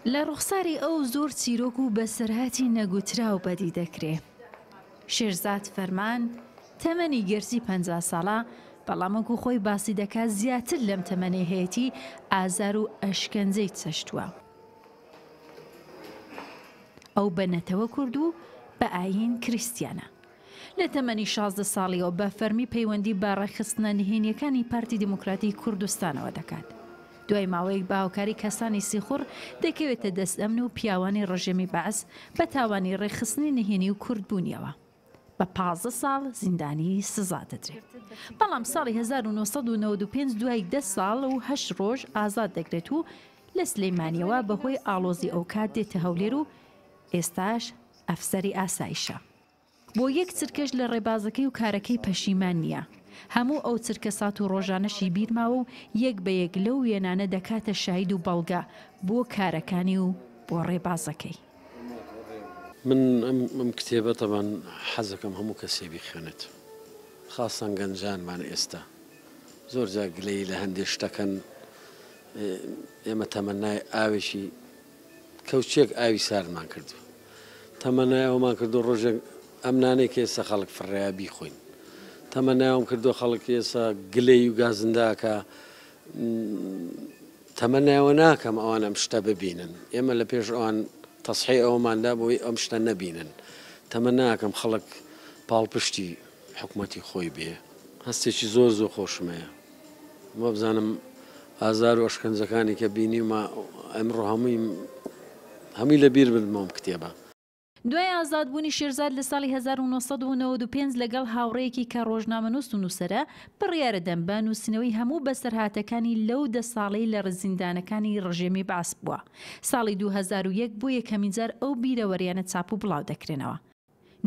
لە ڕوخساری ئەو زۆر چیرۆک و بەسەرهاتی نەگوتراو بەدی دەکرێ. شێرزاد فەرمان، تەمەنی گەرچی 50 ساڵە، بەڵام وەکو خۆی باسی دەکات زیاتر لەم تەمەنەی هەیەتی ئازار و ئەشکەنجەی چەشتووە. ئەو بە نەتەوە کورد و بە ئایین کریستیانە. لە تەمەنی 16 ساڵیەوە بە فەرمی پەیوەندی بە ڕێکخستنە نهێنیەکانی پارتی دیموکراتی کوردستانەوە دەکات. دوای ماوەیەک بە هاوکاری کەسانی سیخوڕ دەکەوێتە دەست ئەمن و پیاوانی ڕژێمی بەعس بە تاوانی ڕێکخستنی نهێنی و کوردبوونیەوە بە 15 ساڵ زیندانی سزا دەدرێت. بەڵام ساڵی 1995 دوای 10 ساڵ و 8 ڕۆژ ئازاد دەکرێت و لە سلەیمانیەوە بەهۆی ئاڵۆزی ئەوکات دێتە هەولێر و ئێستاش ئەفسەری ئاسایشە. بۆ یەک چرکەش لە ڕێبازەکەی و کارەکەی پەشیمان نییە. هەموو ئەو چرکەسات و ڕۆژانەشی بیر ماوە و یەک بە یەک لەو وێنانە دەکاتە شاهید و بەڵگە بۆ کارەکانی و بۆ ڕێبازەکەی. من ئەم کتێبە تەبان حەزەکەم هەموو کەسێ بیخوێنێت خاسەن گەنجانمان ئێستا زۆر جار گلەیی لە هەندێ شتەکەن ئێمە تەمەنای ئاوێکی کەوچێک ئاوی ساردمان کردو تەمەنای ئەوەمان کردو ڕۆژێک ئەم نانەی کە ئێستا خەڵک فڕێیا بیخۆین تەمەنای ئەوەم کردو خەڵک ئێستا گلەی و گازنداکە تەمەنای ئەوە ناکەم ئەوان ئەم شتە ببینن ئێمە لە پێش ئەوان تەسحی ئەوەماندا بۆی ئەم شتە نەبینن تەمەناکەم خەڵک پاڵپشتی حکومەتی خۆی بێ هەستێکی زۆر زۆر خۆشم هەیە وابزانم ئازار و ئەشکەنجەکانی کە بینیومە ئەمڕۆ هەمووی هەمووی لە بیر بردمەوە ئەم کتێبە. دوای ئازادبوونی شێرزاد لە ساڵی 1995 لەگەڵ هاوڕێیەکی کە ڕۆژنامەنووس و نووسەرە، بڕیارەدەن بە نووسینەوەی هەموو بەسەرهاتەکانی لەو دە ساڵەی لە زیندانەکانی ڕژێمی بەعس بووە. ساڵی 2001 بۆ یەکەمینجار ئەو بیرەوەریانە چاپ و بڵاودەکرێنەوە.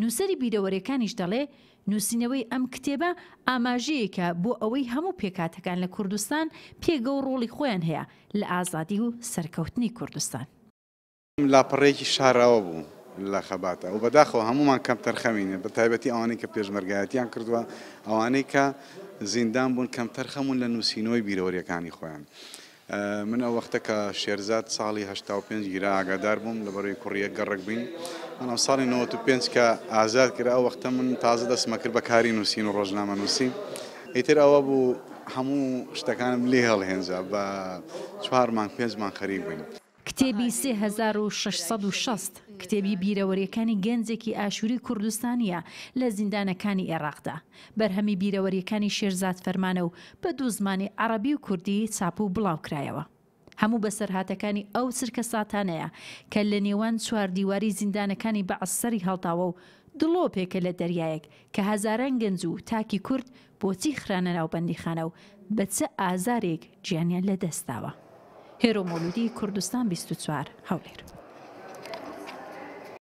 نووسەری بیرەوەریەکانیش دەڵێ، نووسینەوەی ئەم کتێبە ئاماژەیەکە بۆ ئەوەی هەموو پێکهاتەکان لە کوردستان پێگە و ڕۆڵی خۆیان هەیە لە ئازادی و سەرکەوتنی کوردستان. لاپەڕەیەکی شاراوە بوو لە خەباتە و بەداخەوە هەموومان کەمتەرخەمین، بە تایبەتی ئەوانەی کە پێشمەرگایەتیان کردووە، ئەوانەی کە زیندان بوون کەمتەرخەمون لە نووسینەوەی بیرەوەریەکانی خۆیان. من ئەو وەختە کە شێرزاد ساڵی 85 گیرا ئاگادار بووم، لەبەرەوەی کوڕی یەک گەڕەک بووین، بەڵام ساڵی 95 کە ئازاد کرا ئەو وەختە من تازە دەستمە کرد بە کاری نووسین و ڕۆژنامەنووسی. ئیتر ئەوە بوو هەموو شتەکانم لێ هەڵهێنجا، بە چوار مانگ پێنج مانگ خەریک بووین. کتێبی 3660 کتێبی بیرەوەریەکانی گەنجێکی ئاشوری کوردستانیە لە زیندانەکانی ئێراقدا، بەرهەمی بیرەوەریەکانی شێرزاد فەرمانە و بە دوو زمانی عەڕەبی و کوردی چاپ و بڵاوکرایەوە. هەموو بەسەرهاتەکانی ئەو چرکەساتانەیە کە لە نێوان چوار دیواری زیندانەکانی بەعس سەری هەڵداوە و دڵۆپێکە لە دەریایەک کە هەزاران گەنج و تاکی کورد بۆچی خرانە ناو بەندیخانە و بە چ ئازارێک گیانیان لەدەستداوە. هێرۆ مەولودی، کوردستان 24، هەولێر.